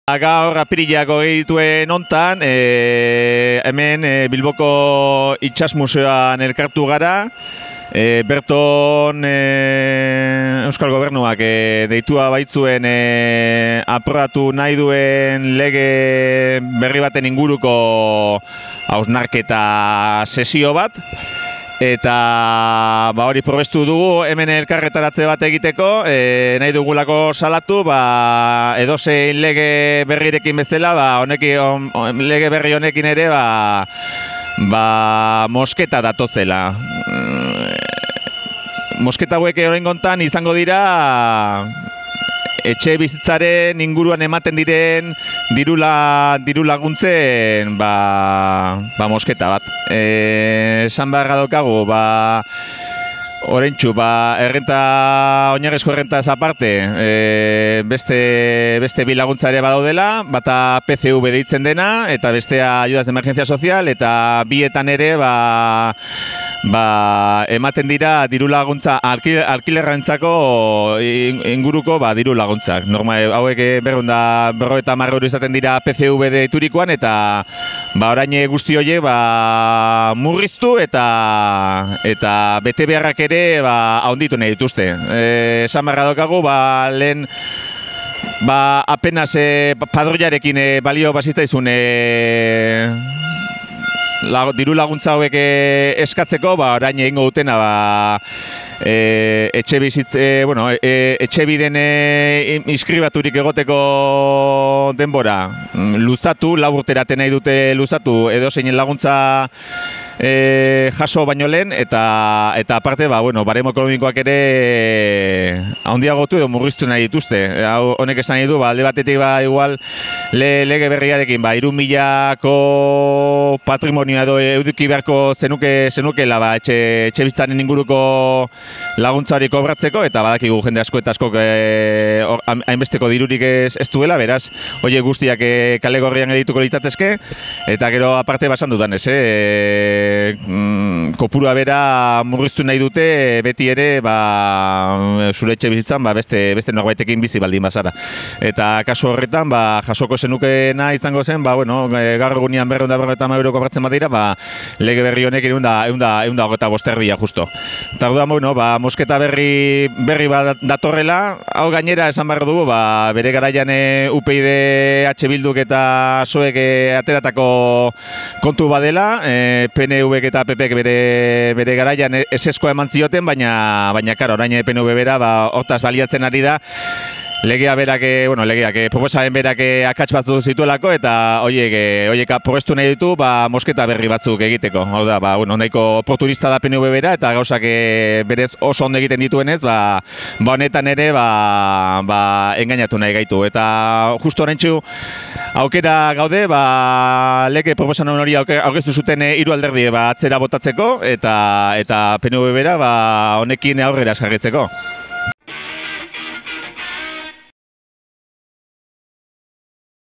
Gaur apirilak dituen hontan, hemen Bilboko Itsas Museoan elkartu gara. Berton Euskal Gobernuak deitua baitzuen aprobatu nahi duen lege berri baten inguruko hausnarketa sesio bat. Eta hori probestu dugu hemen elkarretaratze bat egiteko, nahi dugulako salatu, edozein lege berrirekin bezala, lege berri honekin ere mosketa datozela. Mosketa hauek oraingontan izango dira etxe bizitzaren inguruan ematen diren diru laguntzen mosketa bat. Esan beharra daukagu, oraintsu, oinarrizko errentaz aparte, beste bi laguntza ere badaudela, bata PCV deitzen dena, eta bestea ayudas de emergencia social, eta bietan ere ematen dira diru laguntza alkilerrantzako inguruko diru laguntzak. Normal, hauek 250 euro izaten dira PCV deiturikoan, eta orain guzti horiek murriztu eta bete beharrak ere ahonditu nahi dituzte. Esan beharra daukagu, lehen apenas padroiarekin balio bazitzaizun diru laguntza hauek eskatzeko, orain egingo dutena etxebiden inskribaturik egoteko denbora luzatu, 4 urtera nahi dute luzatu edozein laguntza jaso baino lehen, eta aparte, baremo ekonomikoak ere handiagotu edo murriztu nahi dituzte. Honek esan nahi du, alde batetik igual lege berriarekin 3.000ko patrimonioa edo eduki beharko zenukela etxe bizitzaren inguruko laguntza hori kobratzeko, eta badakigu jende asko eta askok hainbesteko dirurik ez duela, beraz, horiek guztiak kale gorrian edituko litzatezke, eta gero aparte basan dudan ez, kopurua bera murriztu nahi dute, beti ere zure etxe bizitzan beste norbaitekin bizi baldin bazara. Eta kasu horretan, jasoko zenukena izango zen, gaur egunean 250 euro kobratzen badira, lege berri honek 125 erdia justo. Eta orduan, mosketa berri bat datorrela, hau gainera esan behar dugu, bere garaian UPyD, H Bilduk eta PSOEk ateratako kontu badela, PNVk eta PPk bere garaian eseskoa eman zioten, baina orain PNV bera hortaz baliatzen ari da, proposamen berak akats batzu zituelako, eta horiek probestu nahi ditu mosketa berri batzuk egiteko. Hau da, nahiko oportunista da PNV bera, eta gauzak berez oso ondo egiten dituenez, honetan ere engainatu nahi gaitu. Eta justu oraintsu aukera gaude, lege proposamen hori aurkeztu zuten 3 alderdi atzera botatzeko, eta PNV bera honekin aurrera jarraitzeko.